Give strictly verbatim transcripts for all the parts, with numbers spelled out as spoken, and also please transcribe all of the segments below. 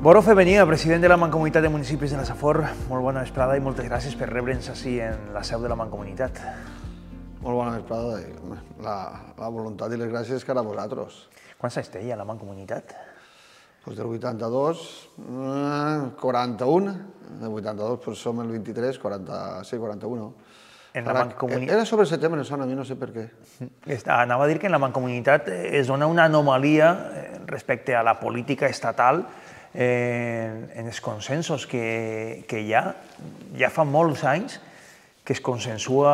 Boro Febenía, president de la Mancomunitat de Municipis de la Safor, molt bona vesprada i moltes gràcies per rebre'ns així en la seu de la Mancomunitat. Molt bona vesprada. La, la voluntat i les gràcies que a vosaltres. Quants anys té ja la Mancomunitat? Pues del vuitanta-dos, quaranta-un, del vuitanta-dos pues som el vint-i-tres, quaranta, sí, quaranta-un. En la Mancomunitat... Era sobre setembre, no sona, a mi no sé per què. Anava a dir que en la Mancomunitat es dona una anomalia respecte a la política estatal en els consensos que hi ha. Ja fa molts anys que es consensua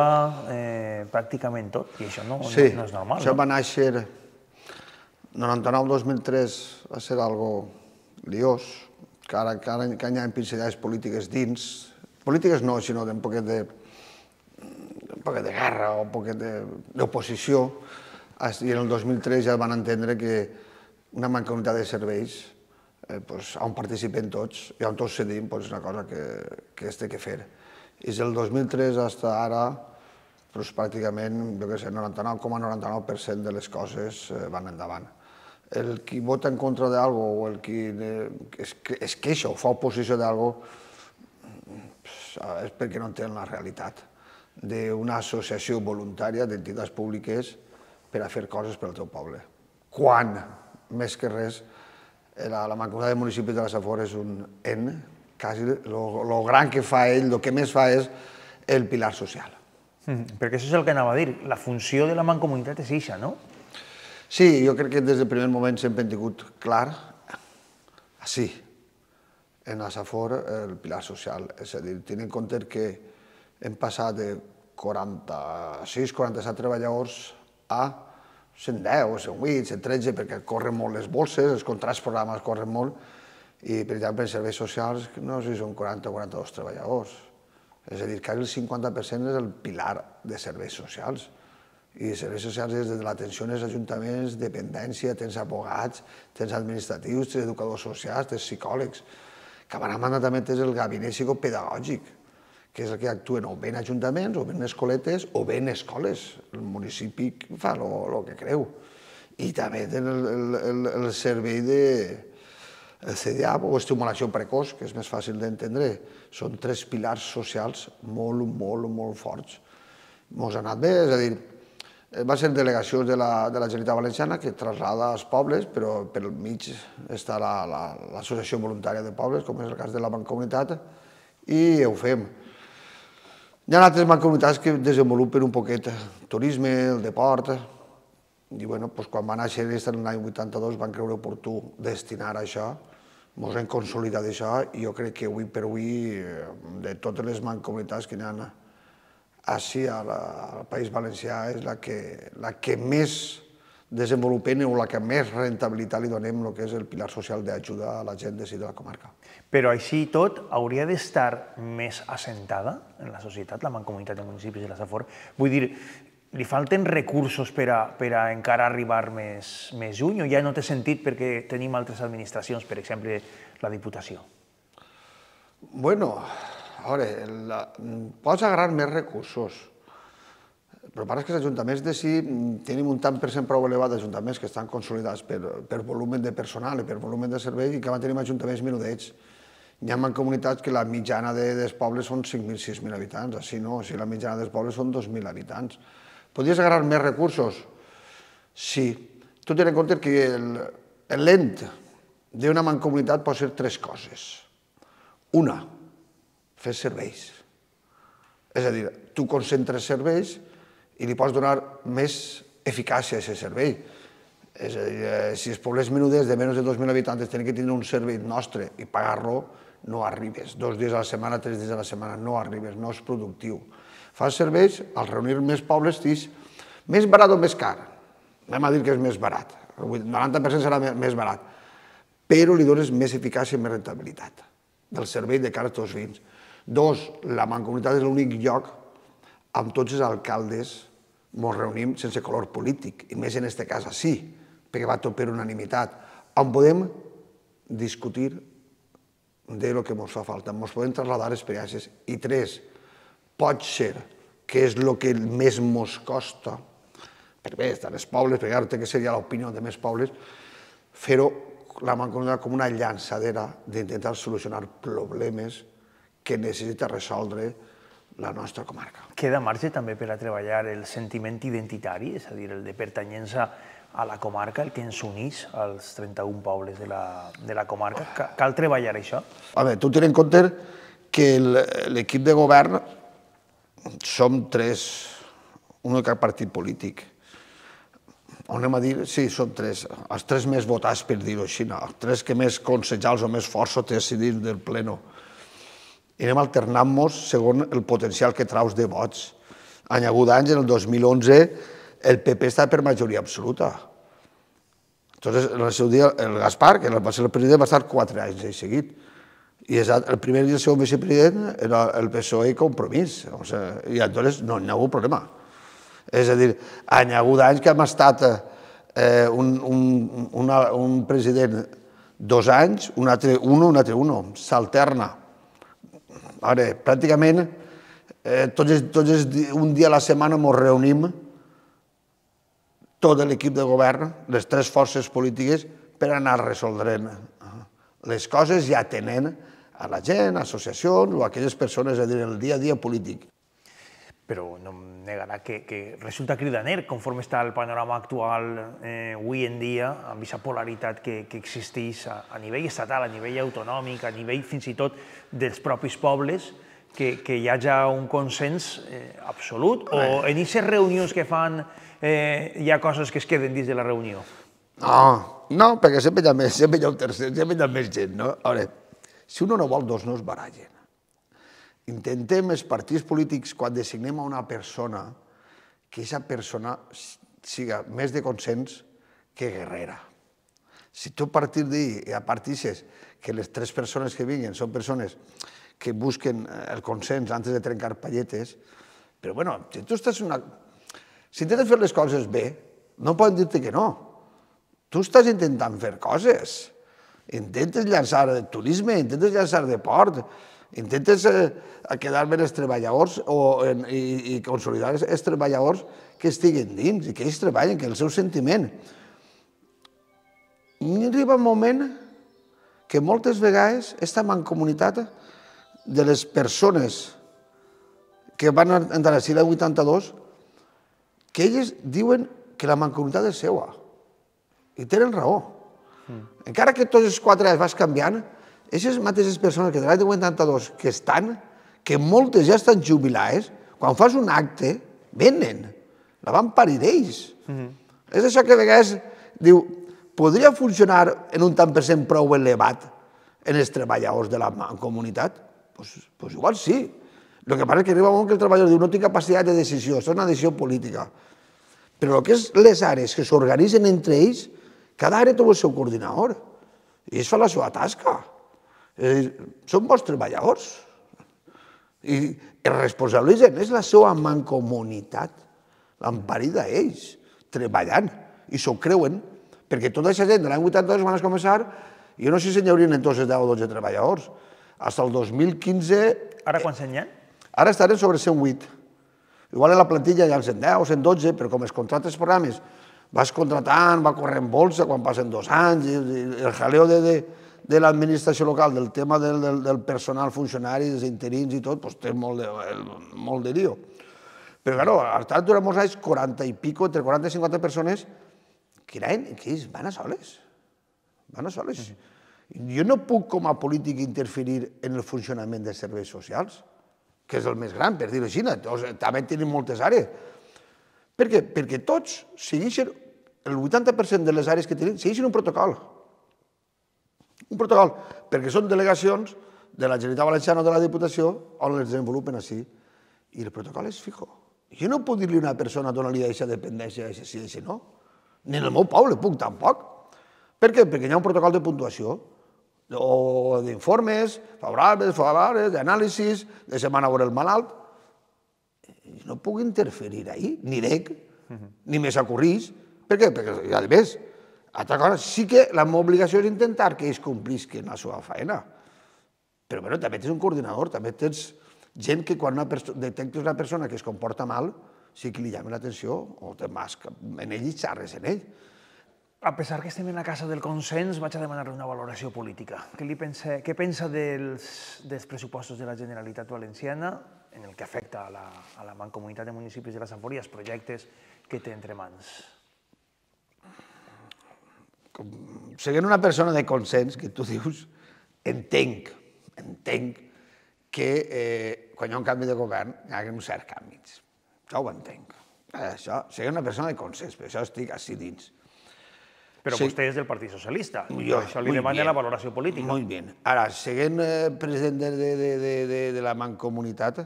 pràcticament tot, i això no és normal. Sí, això va néixer noranta-nou dos mil tres, va ser algo liós, que ara que hi ha pinzellades polítiques dins, polítiques no, sinó d'un poquet de un poquet de guerra o un poquet d'oposició, i en el dos mil tres ja van entendre que una mancomunitat de serveis on participen tots i on tots cedim és una cosa que es té que fer. I del dos mil tres fins ara, pràcticament, jo què sé, noranta-nou coma noranta-nou per cent de les coses van endavant. El qui vota en contra d'algo o el qui es queixa o fa oposició d'algo és perquè no entén la realitat d'una associació voluntària d'entitats públiques per a fer coses per al teu poble. Quan, més que res, la Mancomunitat de Municipis de la Safor és un en, quasi, el gran que fa ell, el que més fa és el pilar social. Perquè això és el que anava a dir, la funció de la Mancomunitat és eixa, no? Sí, jo crec que des del primer moment sempre hem tingut clar, així, en la Safor, el pilar social. És a dir, tenint en compte que hem passat de quaranta-sis quaranta-set treballadors a cent deu, cent vuit, cent tretze, perquè corren molt les bolses, els contrats programes corren molt, i, per exemple, en serveis socials no sé si són quaranta o quaranta-dos treballadors. És a dir, que el cinquanta per cent és el pilar de serveis socials. I serveis socials és des de l'atenció als ajuntaments, dependència, tens abogats, tens administratius, tens educadors socials, tens psicòlegs. Que a banda també tens el gabinet psicopedagògic, que és el que actuen o bé en ajuntaments, o bé en escoletes, o bé en escoles. El municipi fa el que creu. I també tens el servei de C D A o estimulació precoç, que és més fàcil d'entendre. Són tres pilars socials molt, molt, molt forts. Ens ha anat bé, és a dir, va ser delegacions de la Generalitat Valenciana que traslada als pobles, però pel mig està l'Associació Voluntària de Pobles, com és el cas de la Mancomunitat, i ho fem. Hi ha altres mancomunitats que desenvolupen un poquet el turisme, el deport, i quan va néixer l'any vuitanta-dos van creure oportú destinar a això, ens hem consolidat això, i jo crec que avui per avui, de totes les mancomunitats que hi ha així al País Valencià, és la que més desenvolupem o la que més rentabilitat li donem el que és el pilar social d'ajuda a la gent de la comarca. Però així i tot, hauria d'estar més assentada en la societat, la Mancomunitat de Municipis de la Safor. Vull dir, li falten recursos per a encara arribar més lluny o ja no té sentit perquè tenim altres administracions, per exemple, la Diputació? Bueno, a veure, pots agarrar més recursos, però passa que els ajuntaments de si tenim un tant per cent prou elevat d'ajuntaments que estan consolidats per volum de personal i per volum de servei i que van tenir ajuntaments menudets. Hi ha mancomunitats que la mitjana dels pobles són cinc mil, sis mil habitants, així no, si la mitjana dels pobles són dos mil habitants. Podries agarrar més recursos? Sí. Tu tens en compte que l'ent d'una mancomunitat pot ser tres coses. Una, fer serveis. És a dir, tu concentres serveis i li pots donar més eficàcia a aquest servei. És a dir, si els pobles menuders de menys de dos mil habitants tenen que tenir un servei nostre i pagar-lo, no arribes. Dos dies a la setmana, tres dies a la setmana, no arribes, no és productiu. Fas serveis, al reunir més pobles, dius, més barat o més car? Anem a dir que és més barat. El noranta per cent serà més barat. Però li dones més eficàcia i més rentabilitat del servei de cara als teus veïns. Dos, la Mancomunitat és l'únic lloc amb tots els alcaldes ens reunim sense color polític, i més en aquest cas així, perquè va tot per unanimitat, on podem discutir de lo que ens fa falta, ens podem trasladar experiències. I tres, pot ser que és el que més ens costa, perquè bé, estan els pobles, perquè ara té que ser ja l'opinió de més pobles, fer-ho la Mancomunitat com una llançadera d'intentar solucionar problemes que necessita resoldre la nostra comarca. Queda marge també per a treballar el sentiment identitari, és a dir, el de pertanyença a la comarca, el que ens unís als trenta-un pobles de la comarca. Cal treballar això? A veure, tu tens en compte que l'equip de govern som tres, un de cap partit polític. Anem a dir, sí, són tres, els tres més votats, per dir-ho així, els tres que més consellals o més força té decidit del pleno. I anem alternant-nos segons el potencial que traus de vots. Any agut anys, en el dos mil onze, el P P està per majoria absoluta. Entonces, en el seu dia, el Gaspar, que va ser el president, va estar quatre anys de seguit. I el primer i el segon vicepresident era el P S O E i Compromís. I llavors no hi ha hagut problema. És a dir, any agut anys que hem estat un president dos anys, un altre un, un altre un, s'alterna. Ara, pràcticament, tots un dia a la setmana ens reunim tot l'equip de govern, les tres forces polítiques, per anar resoldrent les coses i atenent a la gent, associacions o a aquelles persones, és a dir, el dia a dia polític. Però no em negarà que resulta cridaner, conforme està el panorama actual avui en dia, amb aquesta polaritat que existeix a nivell estatal, a nivell autonòmic, a nivell fins i tot dels propis pobles, que hi hagi un consens absolut? O en aquestes reunions que fan hi ha coses que es queden dins de la reunió? No, no, perquè sempre hi ha més, sempre hi ha un tercer, sempre hi ha més gent, no? A veure, si un no vol, dos no es barallen. Intentem, els partits polítics, quan designem a una persona, que aquesta persona siga més de consens que guerrera. Si tu a partir d'ahir partisses que les tres persones que vinguin són persones que busquen el consens antes de trencar palletes, però bueno, si tu estàs una... Si intentes fer les coses bé, no poden dir-te que no. Tu estàs intentant fer coses. Intentes llançar turisme, intentes llançar de port, intentes quedar bé els treballadors i consolidar els treballadors que estiguen dins i que ells treballen, que el seu sentiment. I arriba un moment que moltes vegades aquesta mancomunitat de les persones que van entrar a l'any vuitanta-dos, que elles diuen que la mancomunitat és seva. I tenen raó. Encara que tots els quatre anys vas canviant, aquestes mateixes persones que de l'any vuitanta-dos que estan, que moltes ja estan jubilades, quan fas un acte, venen. La van parir ells. És això que a vegades diu, podria funcionar en un tant per cent prou elevat en els treballadors de la comunitat? Doncs igual sí. El que passa és que arriba un moment que el treballador diu no tinc capacitat de decisió, això és una decisió política. Però el que és les àrees que s'organitzen entre ells, cada àrea té el seu coordinador i ells fan la seva tasca. Són bons treballadors. I es responsabilitzen, és la seva mancomunitat, l'emparida ells, treballant, i s'ho creuen, perquè tota aquesta gent de l'any vuitanta-dos van començar, jo no sé si n'hi haurien en tots els deu o dotze treballadors, fins al dos mil quinze... Ara quants n'hi ha? Ara estaran sobre cent vuit. Igual en la plantilla hi ha cent deu o cent dotze, però com els contractes programes vas contratant, va corrent bolsa quan passen dos anys, i el jaleo de l'administració local, del tema del personal funcionari, dels interins i tot, doncs té molt de lío. Però, clar, ha estat durant molts anys quaranta i pico, entre quaranta i cinquanta persones, que ells van a soles. Van a soles. Jo no puc, com a polític, interferir en el funcionament dels serveis socials, que és el més gran, per dir-ho així. També tenim moltes àrees. Per què? Perquè tots segueixen, el vuitanta per cent de les àrees que tenim, segueixen un protocol. Un protocol, perquè són delegacions de la Generalitat Valenciana o de la Diputació on les desenvolupen així. I el protocol és fijo. Jo no puc dir-li a una persona donar-li aquesta dependència, aquesta sí, aquesta no. Ni en el meu poble puc, tampoc. Per què? Perquè hi ha un protocol de puntuació, o d'informes, favorables, favorables, d'anàlisis, de setmana a veure el malalt. No puc interferir ahí, ni dec, ni me s'acurrís. Per què? Perquè, a més, altra cosa, sí que la meva obligació és intentar que ells complisquen la seva feina. Però, bueno, també tens un coordinador, també tens gent que quan detectes una persona que es comporta mal, sí que li llama l'atenció, o te vas en ell i xarres en ell. A pesar que estem en la casa del consens, vaig a demanar-li una valoració política. Què, li pensa, què pensa dels, dels pressupostos de la Generalitat Valenciana en el que afecta a la, a la Mancomunitat de Municipis de la Safor i els projectes que té entre mans? Com, sent una persona de consens, que tu dius, entenc, entenc que eh, quan hi ha un canvi de govern hi ha uns certs canvis. Això ho entenc. Això, sent una persona de consens, per això estic així dins. Però sí. Vostè és del Partit Socialista, Jo, per això li demana la valoració política. Molt bé. Ara, sent eh, president de, de, de, de, de la Mancomunitat,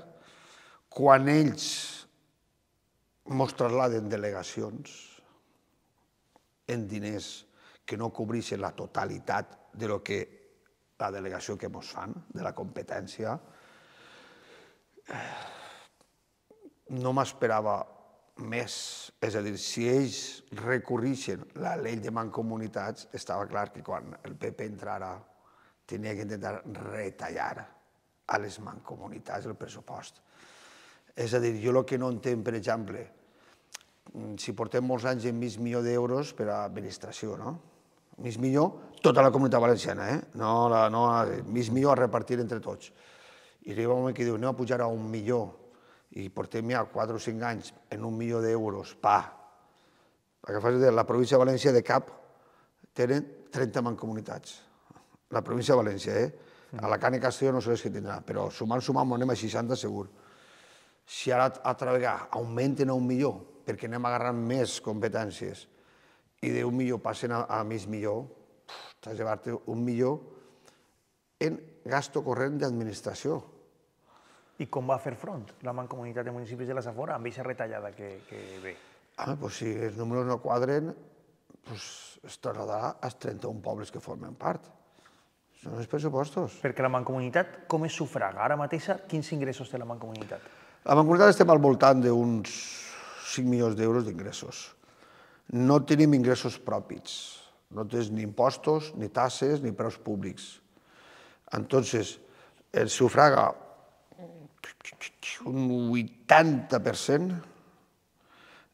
quan ells mos trasladen delegacions en diners que no cobreixen la totalitat de lo que la delegació que mos fan, de la competència, no m'esperava més. És a dir, si ells recorreixen la llei de mancomunitats, estava clar que quan el P P entrara tenia que intentar retallar a les mancomunitats el pressupost. És a dir, jo el que no entenc, per exemple, si portem molts anys en mig milió d'euros per a administració, no? Mig milió, tota la comunitat valenciana, eh? No, no, mig milió a repartir entre tots. I arriba un moment que diu, anem a pujar a un milió, i portem ja quatre o cinc anys en un milió d'euros, pa. La província de València de cap tenen trenta mancomunitats. La província de València, eh? Alacant i Castelló no sé què tindrà, però sumant, sumant, anem a seixanta segur. Si ara altra vegada augmenten a un milió, perquè anem agarrant més competències, i d'un milió passen a mig milió, t'has de llevar-te un milió en gasto corrent d'administració. I com va fer front la Mancomunitat de Municipis de la Safor amb aquesta retallada que ve? Home, doncs si els números no quadren, es trasladarà als trenta-un pobles que formen part. Són els pressupostos. Perquè la Mancomunitat com es sufraga? Ara mateix, quins ingressos té la Mancomunitat? La Mancomunitat estem al voltant d'uns cinc milions d'euros d'ingressos. No tenim ingressos propis. No tens ni impostos, ni tasses, ni preus públics. Entonces, el sufraga un vuitanta per cent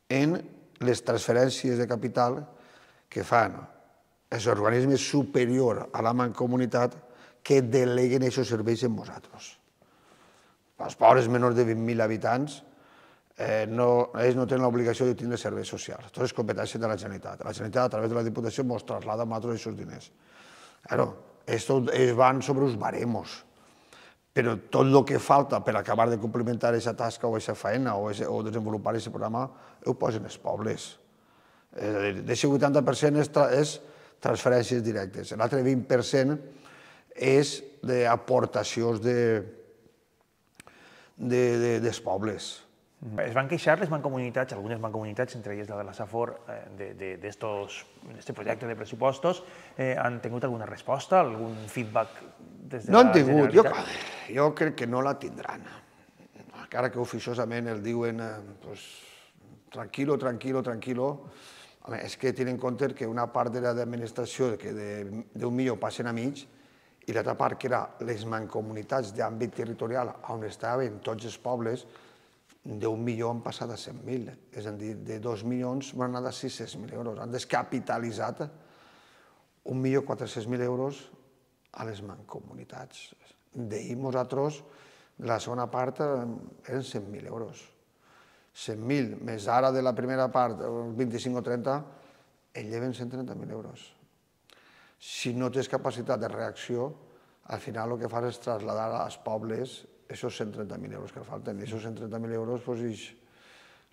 en les transferències de capital que fan els organismes superiors a la Mancomunitat que deleguen aquests serveis en nosaltres. Els pobres menors de vint mil habitants, ells no tenen l'obligació de tindre serveis socials. Tot és competència de la Generalitat. La Generalitat, a través de la Diputació, ens traslada a nosaltres aquests diners. Ells van sobre els baremos, però tot el que falta per acabar de complementar aquesta tasca o aquesta feina o desenvolupar aquest programa ho posen els pobles. És a dir, d'aquest vuitanta per cent és transferències directes. L'altre vint per cent és d'aportacions dels pobles. Es van queixar les mancomunitats, algunes mancomunitats, entre elles la de la Safor, d'aquest projecte de pressupostos. Han tingut alguna resposta, algun feedback des de la Generalitat? No han tingut, jo crec que no la tindran. Encara que oficiosament el diuen tranquilo, tranquilo, tranquilo. És que tenen en compte que una part de l'administració d'un milió passen a mig i l'altra part, que era les mancomunitats d'àmbit territorial on estaven tots els pobles, d'un milió han passat a cent mil. És a dir, de dos milions van anar a sis-cents mil euros. Han descapitalitzat un milió quatre-cents mil euros a les mancomunitats. D'ahir nosaltres, la segona part, eren cent mil euros. cent mil, més ara de la primera part, vint-i-cinc o trenta, en lleven cent trenta mil euros. Si no tens capacitat de reacció, al final el que fas és traslladar als pobles aquests cent trenta mil euros que falten. I aquests cent trenta mil euros,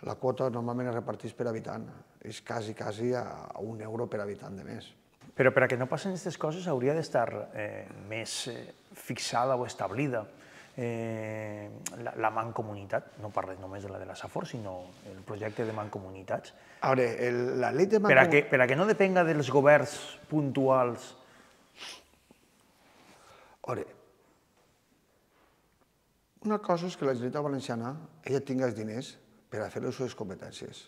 la quota normalment es reparteix per habitant. És quasi, quasi a un euro per habitant de més. Però per a que no passen aquestes coses hauria d'estar més fixada o establida la mancomunitat. No parles només de la de la Safor, sinó el projecte de mancomunitats. A veure, la llei de mancomunitats... Per a que no depenga dels governs puntuals. A veure, una cosa és que la Generalitat Valenciana ella tingui els diners per a fer les seves competències.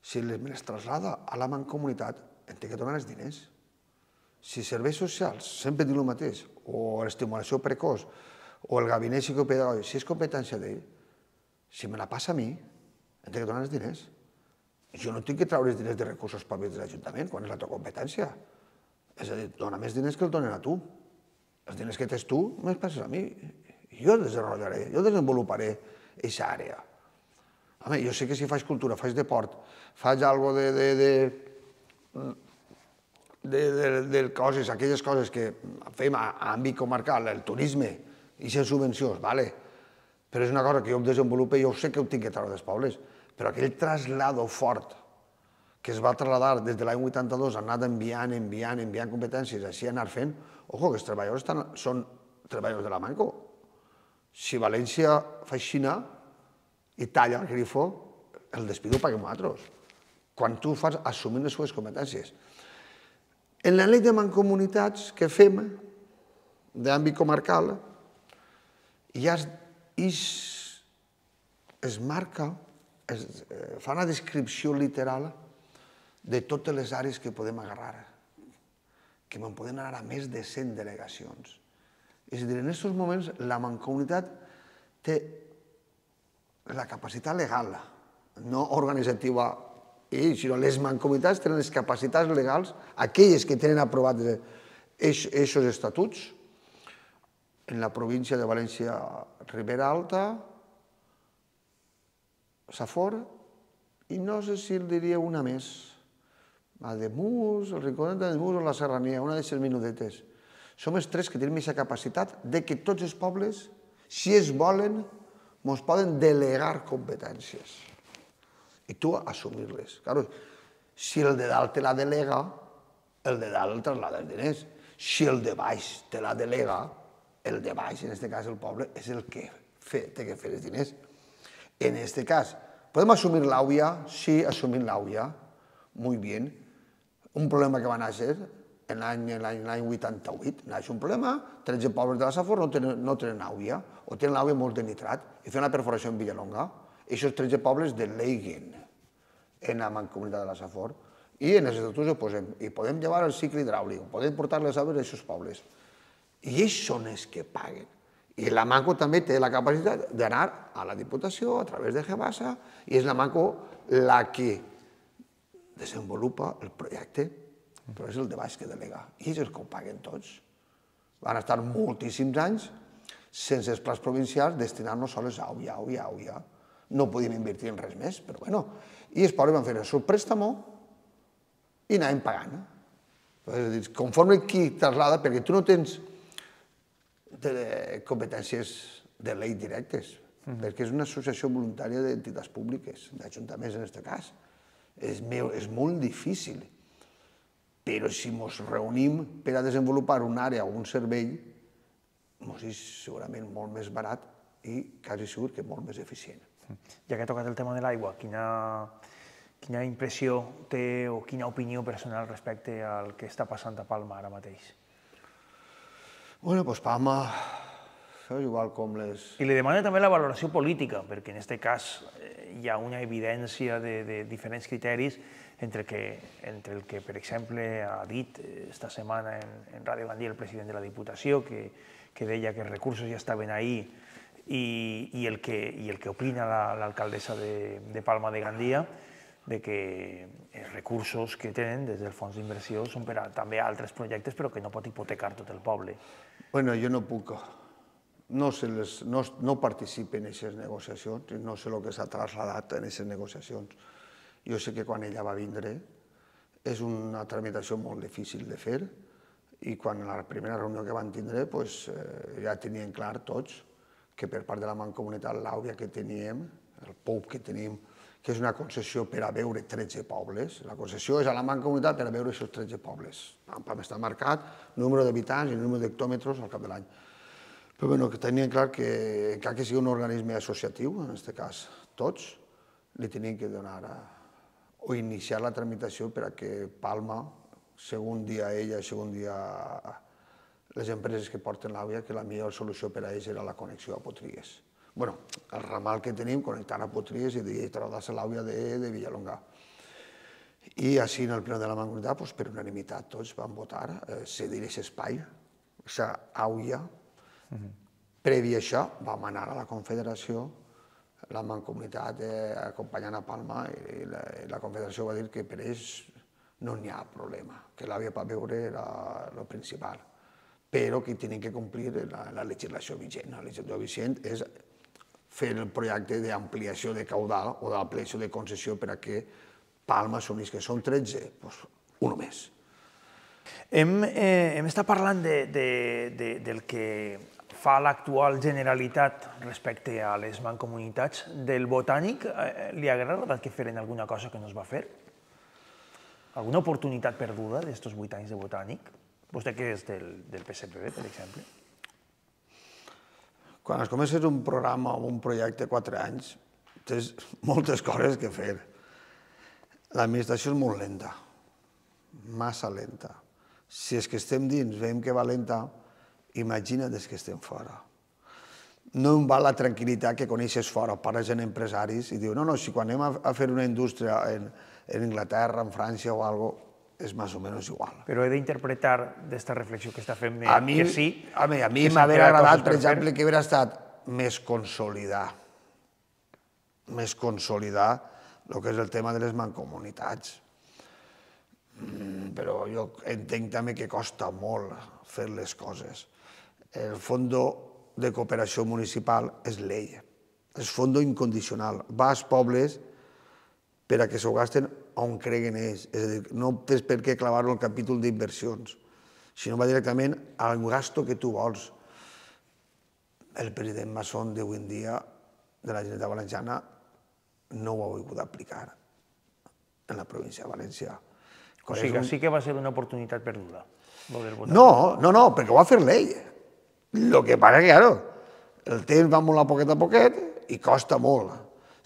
Si me les traslada a la mancomunitat, em té que donar els diners. Si serveis socials, sempre dic el mateix, o l'estimulació precoç, o el gabinet psicopedagògic, si és competència d'ell, si me la passa a mi, em té que donar els diners. jo no tinc que treure els diners de recursos propis de l'Ajuntament quan és la teva competència. És a dir, dona més diners que el donen a tu. Els diners que tens tu, me'ls passes a mi. Jo desenvoluparé, jo desenvoluparé aquesta àrea. Home, jo sé que si faig cultura, faig deport, faig alguna cosa de, de, de, de, de coses, aquelles coses que fem a, a àmbit comarcal, el turisme, i les subvencions, vale. Però és una cosa que jo desenvolupo i jo sé que ho tinc que treure dels pobles. Però aquell traslado fort que es va trasladar des de l'any vuitanta-dos, ha anat enviant, enviant, enviant competències, així anar fent, ojo, que els treballadors estan, són treballadors de la Manco. Si València fa aixina i talla el grifo, el despido ho paguem nosaltres. Quan tu fas assumint les seves competències. En la llei de mancomunitats que fem, d'àmbit comarcal, ja es, es marca, es fa una descripció literal de totes les àrees que podem agarrar, que me'n poden anar a més de cent delegacions. És a dir, en aquests moments la mancomunitat té la capacitat legal, no organitzativa, sinó les mancomunitats tenen les capacitats legals, aquelles que tenen aprovats aquests estatuts, en la província de València, Ribera Alta, Safor, i no sé si el diria una més, a Ademús, el Riconet d'Ademús o la Serrania, una d'aquestes minudetes. Som els tres que tenim aquesta capacitat de que tots els pobles, si es volen, ens poden delegar competències i tu assumir-les. Claro, si el de dalt te la delega, el de dalt traslada els diners. Si el de baix te la delega, el de baix, en aquest cas el poble, és el que té que fer els diners. En aquest cas, ¿podem assumir l'AUIA? Sí, assumir l'AUIA. Muy bien. Un problema que va néixer en l'any vuitanta-vuit. Naix un problema, tretze pobles de la Safor no tenen AUIA, o tenen l'AUIA molt de nitrat, i fan una perforació en Villalonga. Aquests tretze pobles deleguen en la mancomunitat de la Safor, i en els estatuts ho posem. I podem llevar el cicle hidràulic, podem portar les aigües a aquests pobles. I ells són els que paguen. I la Manco també té la capacitat d'anar a la Diputació a través de Gebasa i és la Manco la que desenvolupa el projecte, però és el de baix que delega. I ells els que ho paguen tots. Van estar moltíssims anys sense els plans provincials destinant-nos sols a AUIA, AUIA, AUIA. No podíem invertir en res més, però bueno. I els pobles van fer el seu préstamo i anàvem pagant. Conforme qui traslada, perquè tu no tens de competències de llei directes, perquè és una associació voluntària d'entitats públiques, d'ajuntaments en aquest cas. És molt difícil, però si ens reunim per a desenvolupar una àrea o un servei, ens és segurament molt més barat i quasi segur que molt més eficient. Ja que ha tocat el tema de l'aigua, quina impressió té o quina opinió personal respecte al que està passant a Palma ara mateix? Bueno, doncs Palma, igual com les... I li demana també la valoració política, perquè en aquest cas hi ha una evidència de diferents criteris entre el que, per exemple, ha dit esta setmana en Ràdio Gandia el president de la Diputació, que deia que els recursos ja estaven ahí, i el que opina l'alcaldessa de Palma de Gandia, de que els recursos que tenen des del fons d'inversió són per a també altres projectes, però que no pot hipotecar tot el poble. Bueno, jo no puc, no participo en aquestes negociacions, no sé el que s'ha traslladat en aquestes negociacions. Jo sé que quan ella va vindre és una tramitació molt difícil de fer i quan a la primera reunió que van tindre ja tenien clar tots que per part de la Mancomunitat l'àuria que teníem, el P O U que tenim, que és una concessió per a veure tretze pobles. La concessió és a la Mancomunitat per a veure aquests tretze pobles. Està marcat número d'habitants i número d'hectòmetres al cap de l'any. Però bueno, tenien clar que encara que sigui un organisme associatiu, en aquest cas tots, li tenien que donar o iniciar la tramitació per a que Palma, segon dia ella i segon dia les empreses que porten l'àvia, que la millor solució per a ells era la connexió a Potries. Bueno, el ramal que tenim connectant a Potries i traslladar-se l'àvia de Villalonga. I així en el ple de la Mancomunitat, per unanimitat, tots van votar cedir aquest espai, aquesta àvia. Previ a això vam anar a la Confederació la Mancomunitat acompanyant a Palma i la Confederació va dir que per ells no n'hi ha problema, que la via per veure era el principal, però que tenen que complir la legislació vigent. La legislació vigent és fer el projecte d'ampliació de caudal o d'ampliació de concessió per a que Palma assumís que són tretze, doncs un més. Hem estat parlant del que fa l'actual Generalitat respecte a les mancomunitats. Del Botànic, li hagués agradat que feren alguna cosa que no es va fer? Alguna oportunitat perduda d'estos vuit anys de Botànic? Vostè que és del P S P B, per exemple. Quan es comences un programa o un projecte quatre anys, tens moltes coses que fer. L'administració és molt lenta, massa lenta. Si és que estem dins, veiem que va lenta, imagina't que estem fora. No em val la tranquil·litat que coneixes fora, parles amb empresaris i dius, no, no, si quan anem a fer una indústria en Anglaterra, en França o alguna cosa, és més o menys igual. Però he d'interpretar d'esta reflexió que està fent que sí. A mi m'hauria agradat, per exemple, que hauria estat més consolidar, més consolidar el que és el tema de les mancomunitats. Però jo entenc també que costa molt fer les coses. El Fons de Cooperació Municipal és llei, és fons incondicional. Va als pobles per a que s'ho gasten on creguen ells. És a dir, no tens per què clavar-ho al capítol d'inversions, sinó va directament al gasto que tu vols. El president Massón d'avui en dia de la Generalitat Valenciana no ho ha volgut aplicar en la província de València. O sigui, sí que va ser una oportunitat perduda. No, no, no, perquè ho va fer l'ell. El que passa que, claro, el temps va molt a poquet a poquet i costa molt.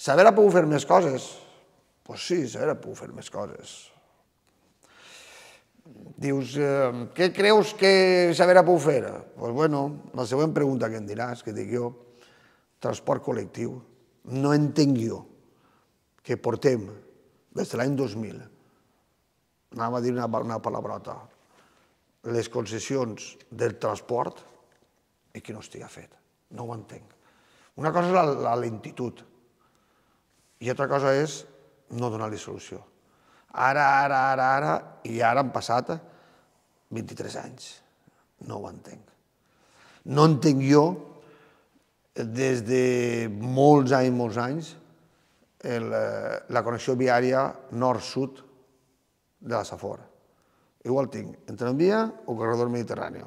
S'haver pogut fer més coses? Doncs sí, s'haver pogut fer més coses. Dius, què creus que s'haver pogut fer? Doncs, bueno, la següent pregunta que em diràs, que dic jo, transport col·lectiu. No entenc jo que portem des de l'any dos mil, anava a dir una palabrota, les concessions del transport i que no estigui fet. No ho entenc. Una cosa és la lentitud i altra cosa és no donar-li solució. Ara, ara, ara, ara, i ara han passat vint-i-tres anys. No ho entenc. No entenc jo, des de molts anys, molts anys, la connexió viària nord-sud de la Safor. Igual tinc, en tramvia o corredor mediterrani.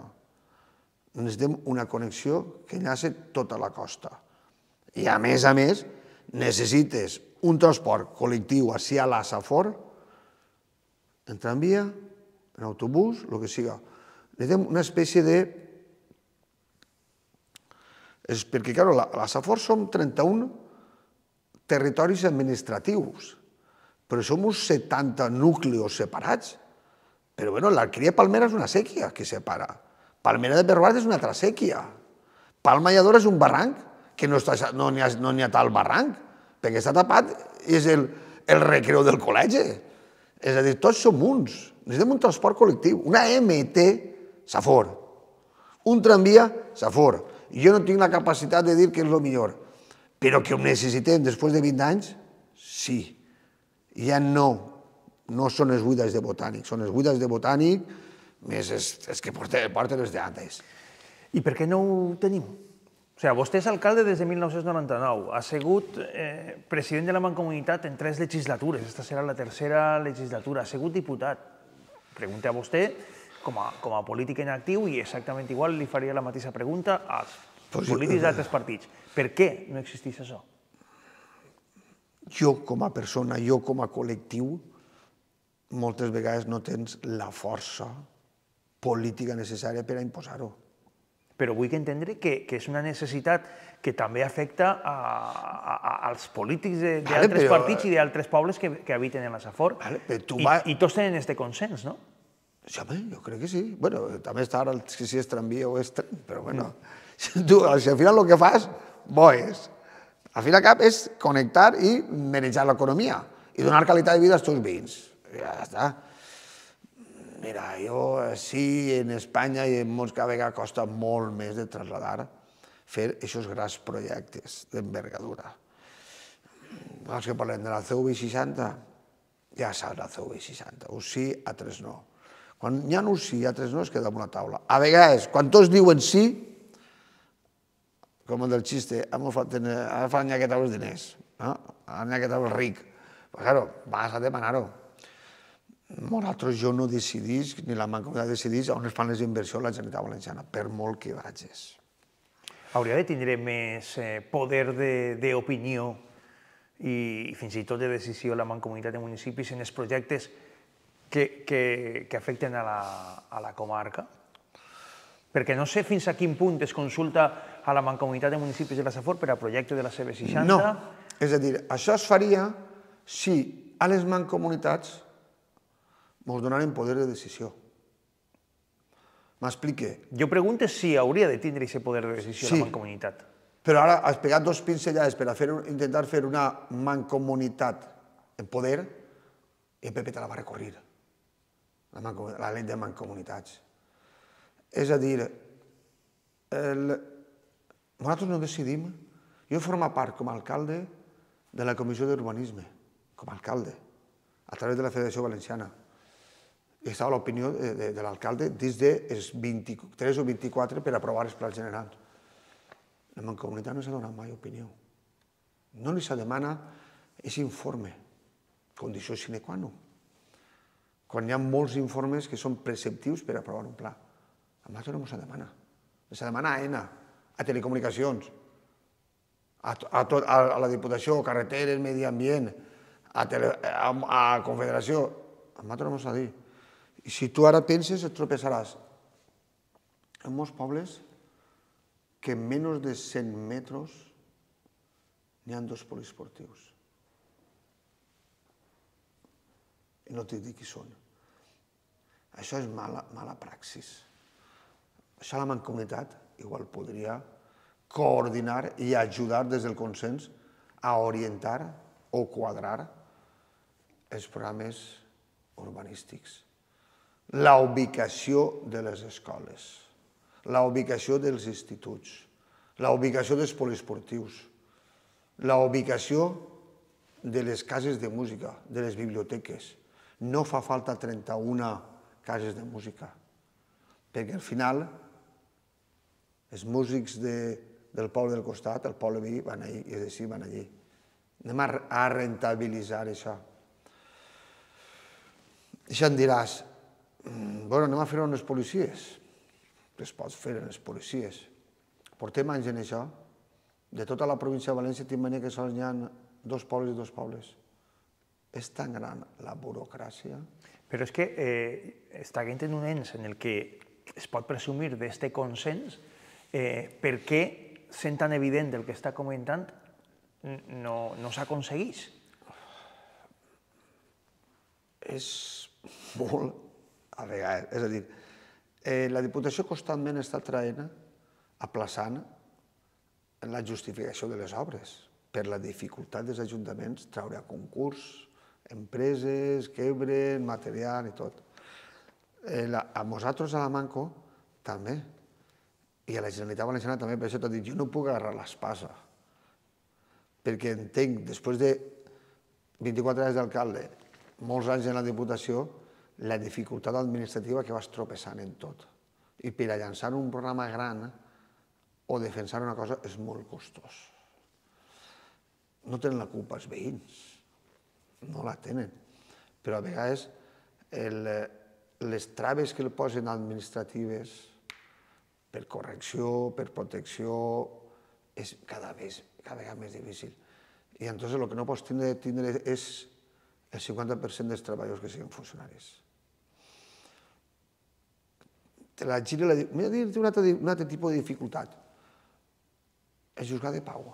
Necessitem una connexió que enllaci tota la costa. I a més a més, necessites un transport col·lectiu així a la Safor, en tramvia, en autobús, el que siga. Necessitem una espècie de... Perquè, clar, a la Safor som trenta-un territoris administratius, però som uns setanta núcleos separats. Però, bueno, l'Alqueria Palmera és una sèquia que separa. Palmera de Perrbas és una altra sèquia. Palma i Ador és un barranc, que no n'hi ha tal barranc, perquè està tapat, és el recreu del col·legi. És a dir, tots som uns. Necessitem un transport col·lectiu, una M T Safor, un tramvia Safor. Jo no tinc la capacitat de dir que és el millor, però que ho necessitem després de vint anys, sí. Ja no, no són els vuit anys de Botànic, són els vuit anys de Botànic, més els que porten els d'antes. I per què no ho tenim? O sigui, vostè és alcalde des de mil nou-cents noranta-nou, ha sigut president de la Mancomunitat en tres legislatures, aquesta serà la tercera legislatura, ha sigut diputat. Pregunta a vostè, com a polític en actiu, i exactament igual li faria la mateixa pregunta als polítics d'altres partits. Per què no existeix això? Jo com a persona, jo com a col·lectiu, moltes vegades no tens la força política necessària per a imposar-ho. Però vull entendre que és una necessitat que també afecta als polítics d'altres partits i d'altres pobles que habiten en la Safor. I tots tenen aquest consens, no? Sí, home, jo crec que sí. Bé, també està ara si és tramvia o és tren, però bueno, tu al final el que fas, bo és. Al fin i al cap és connectar i manejar l'economia i donar qualitat de vida als teus veïns. Ja està. Mira, jo sí, en Espanya i en molts cada vegada costa molt més de traslladar, fer aquests grans projectes d'envergadura. els que parlem de la C V seixanta, ja saps la C V seixanta, un sí, altres no. Quan hi ha un sí i altres no, es queda damunt la taula. A vegades, quan tots diuen sí, com el del xiste, ara fa n'hi els diners, ara n'hi els ric. Però, claro, vas a demanar-ho. Nosaltres jo no decidís, ni la Mancomunitat decidís on es fan les inversions a la Generalitat Valenciana, per molt que vagis. Hauria de tindre més poder d'opinió i fins i tot de decisió la Mancomunitat de Municipis en els projectes que afecten a la comarca? Perquè no sé fins a quin punt es consulta a la Mancomunitat de Municipis de la Safor per a projecte de la C V seixanta. No, és a dir, això es faria si a les mancomunitats ens donaren poder de decisió. M'explique. Jo pregunto si hauria de tindre aquest poder de decisió la Mancomunitat. Però ara has pegat dos pinzellades per intentar fer una mancomunitat en poder i el P P te la va recorrir, la llei de mancomunitats. És a dir, nosaltres no decidim. Jo formo part com a alcalde de la Comissió d'Urbanisme, com a alcalde, a través de la Federació Valenciana. I estava l'opinió de l'alcalde dins dels vint-i-tres o vint-i-quatre per aprovar els plans generals. La Mancomunitat no s'ha donat mai opinió. No li s'ha demanat aquest informe, condició sine qua non. Quan hi ha molts informes que són preceptius per aprovar un pla. A nosaltres no s'ha demanat. S'ha demanat a ENA, a Telecomunicacions, a la Diputació, Carreteres, Medi Ambient, a Confederació. A nosaltres no s'ha dit. I si tu ara penses, et tropeçaràs en molts pobles que en menys de cent metres n'hi ha dos poliesportius. I no t'he dit qui són. Això és mala praxis. Això la Mancomunitat igual podria coordinar i ajudar des del consens a orientar o quadrar els programes urbanístics. La ubicació de les escoles, la ubicació dels instituts, la ubicació dels poliesportius, la ubicació de les cases de música, de les biblioteques. No fa falta trenta-una cases de música, perquè al final els músics del poble del costat, el poble veí, van allí, i és així, van allí. Anem a rentabilitzar això. I em diràs, bueno, anem a fer-ho amb les policies. Es pot fer amb les policies. Portem anys en això. De tota la província de València tinc mania que sols hi ha dos pobles i dos pobles. És tan gran la burocràcia. Però és que estant en un ens en el que es pot presumir d'aquest consens, per què, sent tan evident el que està comentant, no s'aconsegueix? És molt, a vegades, és a dir, la Diputació constantment està traient, aplaçant la justificació de les obres, per la dificultat dels ajuntaments treure a concurs, empreses, quebren, material i tot. A nosaltres, a la Manco, també. I a la Generalitat Valenciana també, per això t'ho dic, jo no puc agarrar l'espasa. Perquè entenc, després de vint-i-quatre anys d'alcalde, molts anys en la Diputació, la dificultat administrativa que vas tropeçant en tot. I per a llançar un programa gran o defensar una cosa és molt costós. No tenen la culpa els veïns, no la tenen. Però a vegades les traves que li posen administratives per correcció, per protecció, és cada vegada més difícil. I llavors el que no pots tindre és el cinquanta per cent dels treballadors que siguin funcionaris. Te la giro i la dic, m'he de dir un altre tipus de dificultat. El Juzgat de Pau.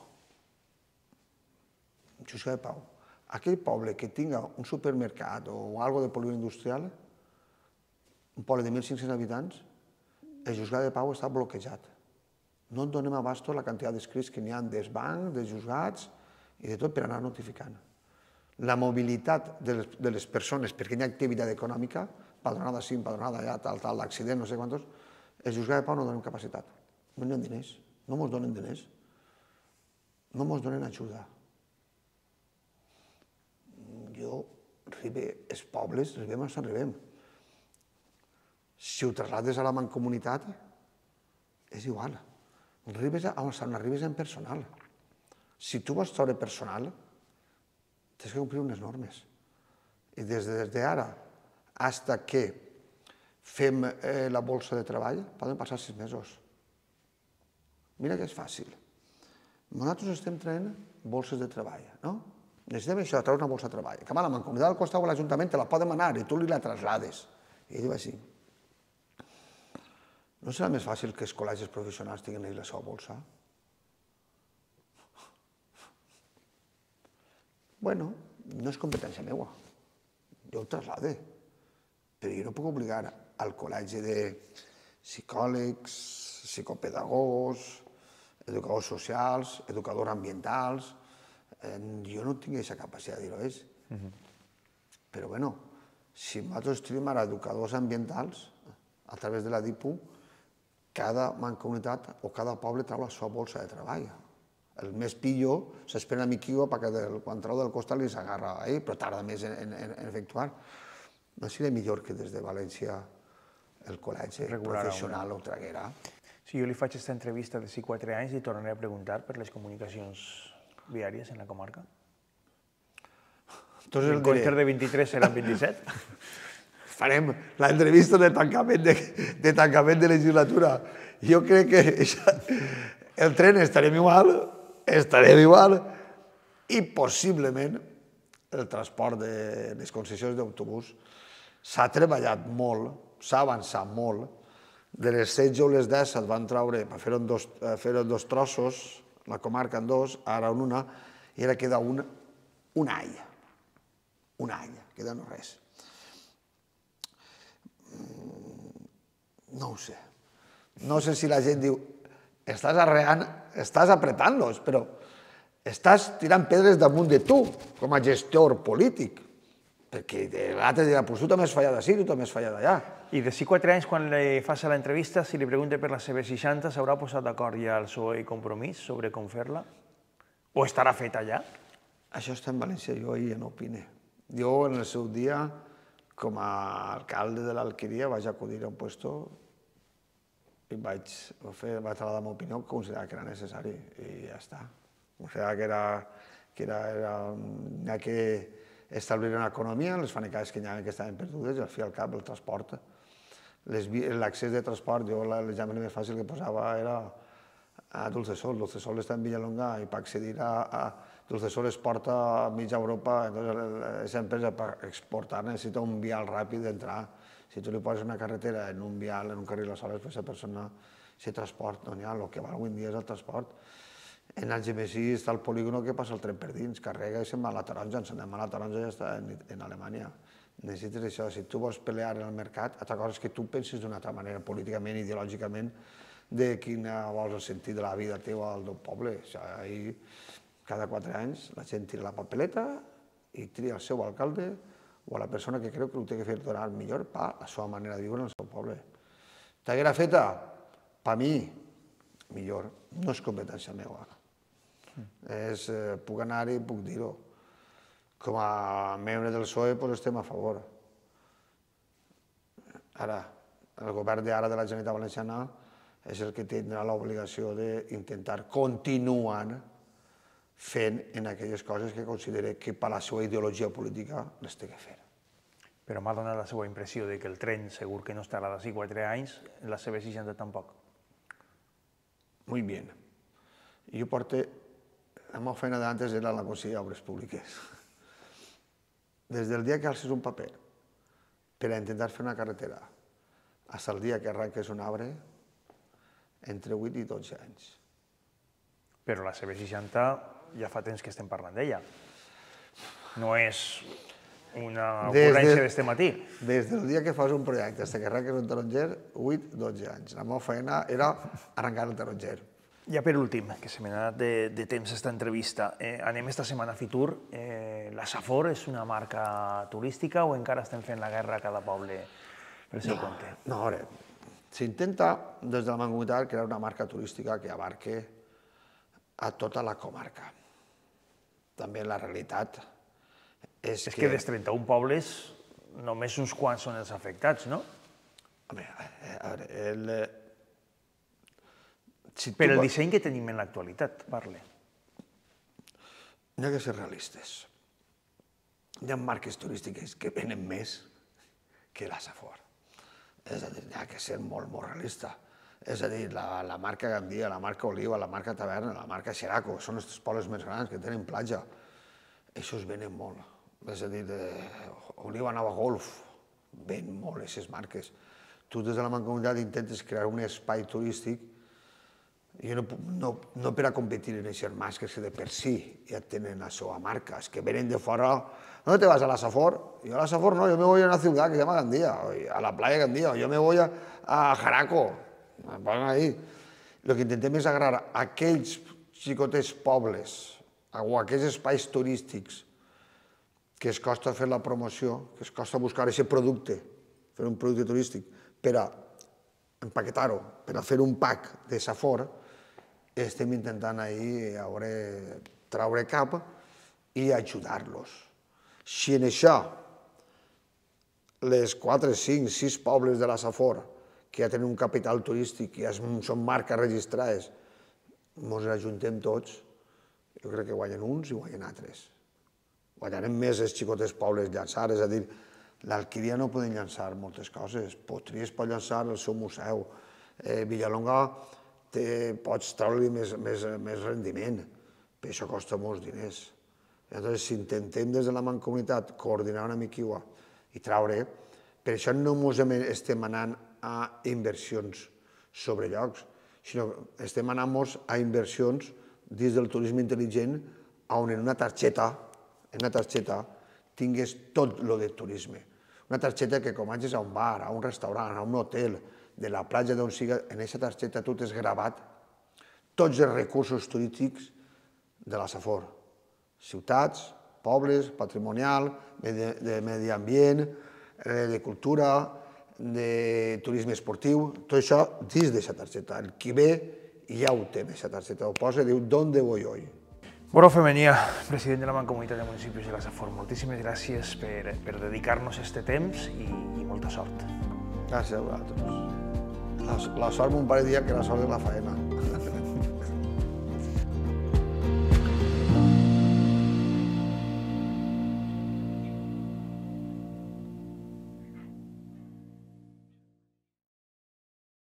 El Juzgat de Pau. Aquell poble que tinga un supermercat o alguna de polígon industrial, un poble de mil cinc-cents habitants, el Juzgat de Pau està bloquejat. No en donem abasto la quantitat d'escrits que n'hi ha dels bancs, dels juzgats i de tot per anar notificant. La mobilitat de les persones, perquè hi ha activitat econòmica, padronada sí, padronada allà, tal, tal, l'accident, no sé quantos, el Juzgat de Pau no donem capacitat. No hi ha diners, no ens donen diners, no ens donen ajuda. jo, Ribe, els pobles, arribem on arribem. Si ho traslades a la mancomunitat, és igual. Arribes on arribes en personal. Si tu vols treure personal, tens que complir unes normes. I des d'ara fins que fem la bolsa de treball, poden passar sis mesos. Mira que és fàcil. Nosaltres estem traient bolses de treball, no? Necessitem això, treure una bolsa de treball. Que a la mancomunitat del costat o l'Ajuntament te la poden manar i tu li la traslades. I ell diu així. No serà més fàcil que els col·legis professionals tinguin ells la seva bolsa? Bueno, no és competència meva. Jo ho traslade. Però jo no puc obligar al col·legi de psicòlegs, psicopedagogs, educadors socials, educadors ambientals. Jo no tinc aquesta capacitat de dir-ho, és. Però, bueno, si nosaltres tenim ara educadors ambientals, a través de la DIPU, cada mancomunitat o cada poble trau la seva bolsa de treball. El més pillo s'espera a miquiu perquè quan trau del costat li s'agarra a ell, però tarda més en efectuar. No seria millor que des de València el col·legi professional ho traguera? Si jo li faig aquesta entrevista de si quatre anys, li tornaré a preguntar per les comunicacions viàries en la comarca. En comptes de vint-i-tres seran vint-i-set? Farem l'entrevista de tancament de legislatura. Jo crec que el tren estarem igual, estarem igual, i possiblement el transport de les concessions d'autobús s'ha treballat molt, s'ha avançat molt. De les setze o les disset van treure per fer-ho en dos trossos, la comarca en dos, ara en una, i ara queda un all. Un all, queda no res. No ho sé. No sé si la gent diu, estàs arreant, estàs apretant-los, però estàs tirant pedres damunt de tu, com a gestor polític, perquè l'altre dirà, doncs tu també has fallat d'ací, tu també has fallat d'allà. I de si quatre anys, quan li faci l'entrevista, si li pregunta per la C B seixanta, s'haurà posat d'acord ja el P S O E i Compromís sobre com fer-la? O estarà feta ja? Això està en València, jo ahir no opine. Jo, en el seu dia, com a alcalde de l'Alqueria, vaig acudir a un puesto i vaig trasladar la meva opinió, que considerava que era necessari, i ja està. Considerava que era que establir una economia, les fanecades que hi havia que estaven perdudes, i al fi al cap el transport. L'accés de transport, jo l'examen més fàcil que posava era a Dulcesol. Dulcesol està en Villalonga i per accedir a Dulcesol es porta a mitja Europa, aquesta empresa per exportar necessita un vial ràpid d'entrar. Si tu li poses una carretera en un vial, en un carril a soles, aquesta persona, aquest transport no n'hi ha, el que val avui en dia és el transport. En Algemesí està el polígono que passa el tren per dins, carrega i se'n va a la taronja, en se'n va a la taronja i ja està en Alemanya. Necessites això, si tu vols pelear en el mercat, altra cosa és que tu pensis d'una altra manera, políticament, ideològicament, de quin vols el sentit de la vida teva al teu poble. Ahir, cada quatre anys, la gent tira la papeleta i tria el seu alcalde o a la persona que creu que ho té que fer donar millor per la seva manera de viure en el seu poble. T'haguera feta? Per mi, millor. No és competència meva. Puc anar-hi i puc dir-ho. Com a membre del P S O E estem a favor. Ara, el govern d'ara de la Generalitat Valenciana és el que tindrà l'obligació d'intentar continuar fent en aquelles coses que considera que per la seva ideologia política les té que fer. Però m'ha donat la seva impressió que el tren segur que no estarà d'ací quatre anys, la C B seixanta tampoc. Muy bien. Jo porto... La meva feina d'antes era la Conselleria d'Obres Públiques. Des del dia que alces un paper per a intentar fer una carretera fins al dia que arranques un arbre, entre vuit i dotze anys. Però la C B seixanta ja fa temps que estem parlant d'ella. No és una ocurrència d'este matí. Des del dia que fas un projecte fins que arranques un taronger, vuit a dotze anys. La meva feina era arrencar el taronger. Ja per últim, que se m'ha anat de temps aquesta entrevista, anem esta setmana a Fitur. La Safor és una marca turística o encara estem fent la guerra a cada poble pel seu compte? No, a veure, s'intenta des de la Mancomunitat crear una marca turística que abarque a tota la comarca. També la realitat És que dels trenta-un pobles només uns quants són els afectats, no? Home, a veure, el... Per el disseny que tenim en l'actualitat, parle. N'hi ha que ser realistes. Hi ha marques turístiques que venen més que la Safor. És a dir, n'hi ha que ser molt, molt realista. És a dir, la marca Gandia, la marca Oliva, la marca Taverna, la marca Xeraco, són els pobles més grans que tenen platja. Això es venen molt. És a dir, Oliva Nova Golf, ven molt aquestes marques. Tu des de la Mancomunitat intentes crear un espai turístic i no per a competir en aquestes marques que de per si ja tenen la seva marca, és que venen de fora. ¿Dónde te vas? ¿A la Safor? Yo a la Safor no, yo me voy a una ciudad que se llama Gandía, a la playa Gandía, yo me voy a Jaraco. Ahí. El que intentem és agarrar aquells xicotes pobles o aquells espais turístics que es costa fer la promoció, que es costa buscar aquest producte, fer un producte turístic, per a empaquetar-ho, per a fer un pack de Safor, estem intentant ahir traure cap i ajudar-los. Si en això les quatre, cinc, sis pobles de la Safor que ja tenen un capital turístic, que ja són marques registrades, ens ajuntem tots, jo crec que guanyen uns i guanyen altres. Guanyarem més els xicotes pobles llançar, és a dir, l'Alquíria no poden llançar moltes coses, Potries pot llançar el seu museu, Villalonga pots treure-li més rendiment, però això costa molts diners. Llavors, si intentem des de la Mancomunitat coordinar una mica i traure, per això no ens estem anant a inversions sobre llocs, sinó que estem anant a inversions dins del turisme intel·ligent on en una targeta, en una targeta tingues tot el de turisme. Una targeta que com vagis a un bar, a un restaurant, a un hotel, de la platja d'on siga, en aquesta targeta tu t'has gravat tots els recursos turístics de la Safor. Ciutats, pobles, patrimonial, de medi ambient, de cultura, de turisme esportiu, tot això dins d'aquesta targeta. El qui ve ja ho té, aquesta targeta, ho posa i diu «¿Dónde voy hoy?». Borja Femenia, president de la Mancomunitat de Municipis de la Safor, moltíssimes gràcies per dedicar-nos aquest temps i molta sort. Gràcies a vosaltres. La sort mon pare dia que la sort és la faena.